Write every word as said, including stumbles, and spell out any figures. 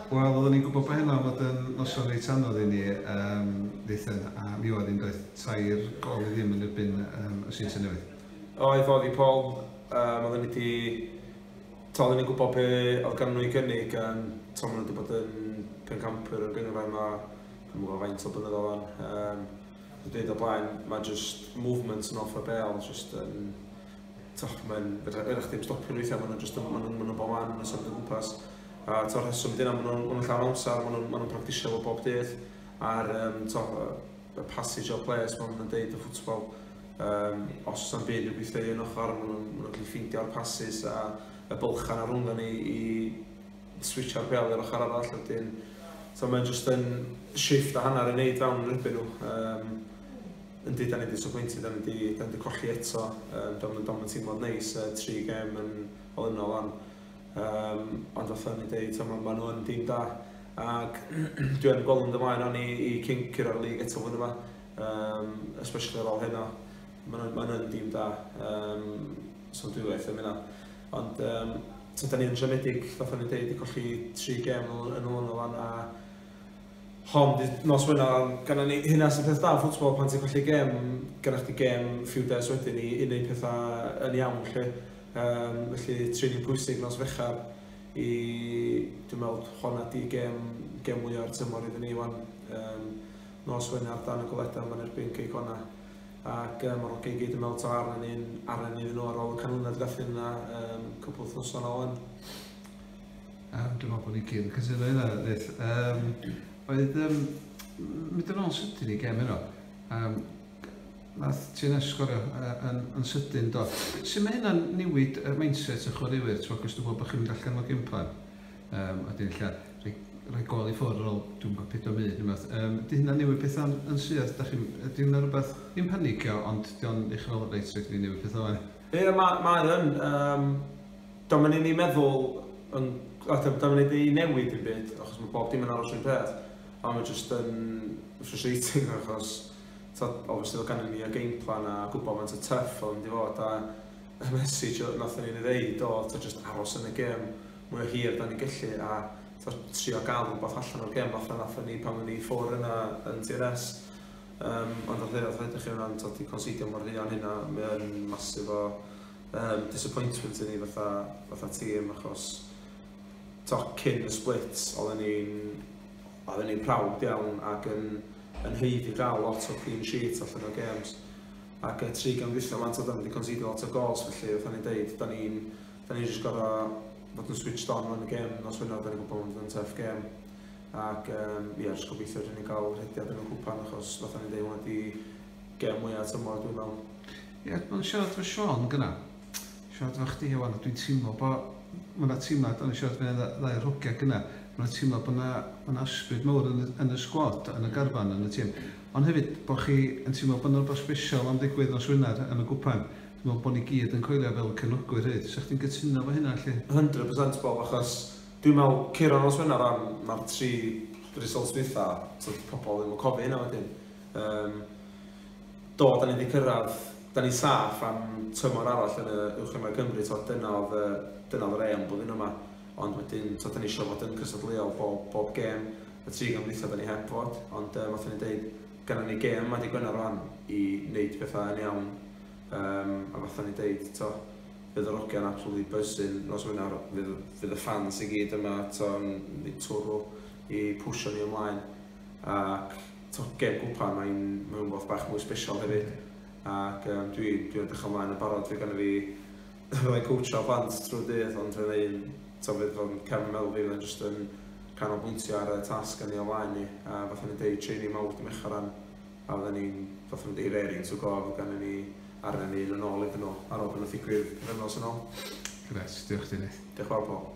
Wel, oedden ni'n gwybod bod hynna fod yn noson reit anodd i ni, um, Nathan, a mi oedd hi'n doedd tair gol i ddim yn erbyn um, y Seintiau Newydd. Oedd, oedd i Paul, um, oedden ni wedi... To, oedden ni'n gwybod be oedd gan nhw i gynnig, um, to, maen nhw wedi bod yn pencampwyr yn gynghrair yma, dwi'm yn gwybod faint o blynyddoedd o'n. Um, dwi'n dweud o blaen, mae just movement yn off y bel, just yn... To, mae'n... Fedrwch chdi'm stopio nhw weithiau, maen nhw'n just yn... Maen nhw'n ma nhw bob man, maen nhw'n symud o gwmpas. A to'r rheswm dyna, maen nhw'n ma nhw llawn amser, maen nhw'n ma nhw practisio fo bob dydd. A'r um, to, y passage of play, maen nhw'n deud y ffwtbol. Um, os oes am byd i'w gweithio i un ochr, maen nhw'n ma nhw gallu ffeindio'r passes a y bylchan ar rhwng ni i switcho'r bel i'r ochr arall. Wedyn, so mae'n just yn shift a hanner i wneud fewn yn erbyn nhw. Um, yndi, da ni disappointed, da ni di, da ni di colli eto. Um, Dio'm yn teimlo'n neis, uh, tri gem yn olynol an. Um, ond fatha ni dweud, ma, ma nhw yn dîm da. Ac dwi yn gweld yn ymlaen o'n i i cyn curo'r lig eto flwyddyn yma. Um, especially ar ôl heno. Ma nhw'n ma nhw dîm da. Um, so dwi waith am hynna. Ond um, so da ni'n siomedig, fatha ni'n dweud, i colli tri gem yn olynol an a hon, nos Wener, ganna ni, hynna sy'n peth da yn ffwtbol, pan ti'n colli gem, gynna chdi gem few days wedyn i, i wneud pethau yn iawn, lle. Um, felly, training pwysig nos Fechar i, dwi'n meddwl, honna di gem, gem mwyaf o'r tymor iddyn ni wan. Um, nos Wener dan y goledau ma'n erbyn Cei Connah. Ac um, mae'r hogia i gyd yn meddwl ta arna ni'n arna ni iddyn nhw ar ôl y canlyniad gathon yna um, cwpl wythnosau yn ôl. Um, dwi'n meddwl bod ni gyd yn cytuno hynna, Nath. Um, oedd, um, mynd yn ôl sydyn i gem heno, um, nath T N S sgorio uh, yn, yn sydyn do. Sut mae hynna'n newid y mindset y chwaraewyr, ti'n gwybod, dwi'n gwybod bod chi'n mynd allan o game plan, um, a dyn ella rhoi, rhoi gol i ffwrdd ar ôl, dwi'n gwybod, pedwar munud, neu beth. Um, di hynna'n newid pethau yn syth? Da chi'n, ydy hynna rhywbeth, ddim panicio, ond di o'n eich fel reit, rhaid i ni newid pethau o'n? Ie, mae ma yn. Um, Do'n mynd i ni meddwl, yn, a do'n mynd i ni newid dim byd, achos mae bob dim yn aros un peth. Ond mae just yn frustrating achos ta, obviously oedd ganddyn ni y game plan a gwybod faint o tough oedd mynd i fod a y message nathon ni'n ei ddeud oedd ta just aros yn y gêm mwy o hir da ni'n gallu a ta, trio gael rhywbeth allan o'r gêm fatha nathon ni pan o'n ni ffwr yna yn T N S. Um, ond oedd oedd ydych chi hwnna'n di concedio mor fuan hynna, mae'n massive o um, disappointment i ni fatha, fatha tîm achos to, cyn y split oedden ni'n oedden ni'n proud iawn ac yn, yn haeddu gael lot o clean sheets allan o games. Ac y tri gêm dwytha man, da ni wedi concedio lot o goals, felly fatha ni'n deud, da ni'n da ni'n just gorau fod yn switched on yn y gêm nos Wener, da ni'n gwybod bod yn tough game. Ac um, ie, jyst gobeithio rydyn ni'n cael rhediad yn y cwpan, achos fatha ni'n deud, hwnna di gêm mwyaf tymor, dwi'n meddwl. Ie, mae'n siarad efo Sean gyna. Siarad efo chdi wan, a dwi'n teimlo bod mae yna teimlad, o'n i siarad efo ddau o'r hogia gyna, mae yna teimlad bod yna, ma' 'na ysbryd mawr yn, y- yn y sgwad, yn y garfan, yn y tîm. Ond hefyd, bod chi yn teimlo bod yna rhywbeth special am ddigwydd nos Wener yn y gwpan. Dwi'n meddwl bod ni gyd yn coelio fel cefnogwyr hyd. Sa chdi'n cytuno efo hynna, lle? cant y cant Bob, achos dwi'n meddwl curo nos Wener am mae'r tri results dwytha, so pobl ddim yn cofio hynna wedyn. Um, do, da ni wedi cyrraedd, da ni saff am tymor arall yn y Uwch Gynghrair Cymru, to, dyna oedd y- dyna oedd yr aim blwyddyn yma. Ond wedyn, to, da ni eisiau fod yn cystadleuol bob, bob gêm. Y tri gêm dwytha da ni heb fod, ond um, fatha ni'n deud, gynna ni gêm yma di Gwener rwan i wneud pethau yn iawn. Um, a fatha ni'n deud, to, fydd yr hogia'n absolutely buzzing nos Wener, fydd, fydd y fans i gyd yma, to, yn neud twrw i pwsio ni ymlaen. Ac to, gêm gwpan, mae'n mae'n rhywbeth bach mwy special hefyd. Ac um, dwi, dwi'n edrych ymlaen yn barod, fe gynna fi fyddai'n coachio plant trwy'r dydd, ond fyddai'n, to, fydd fo'n cefn meddwl fi, fyddai'n just yn canolbwyntio ar y tasg yn ei ymlaen ni. A fatha ni'n deud, training mawr dim eich ran, a fydden ni'n, fatha ni'n deud, raring to go, fydd gynna ni arna ni yn ôl iddyn nhw ar ôl bod nhw'n ddigwydd pythefnos yn ôl. Gret, diolch ti, Nath. Diolch yn fawr, Paul.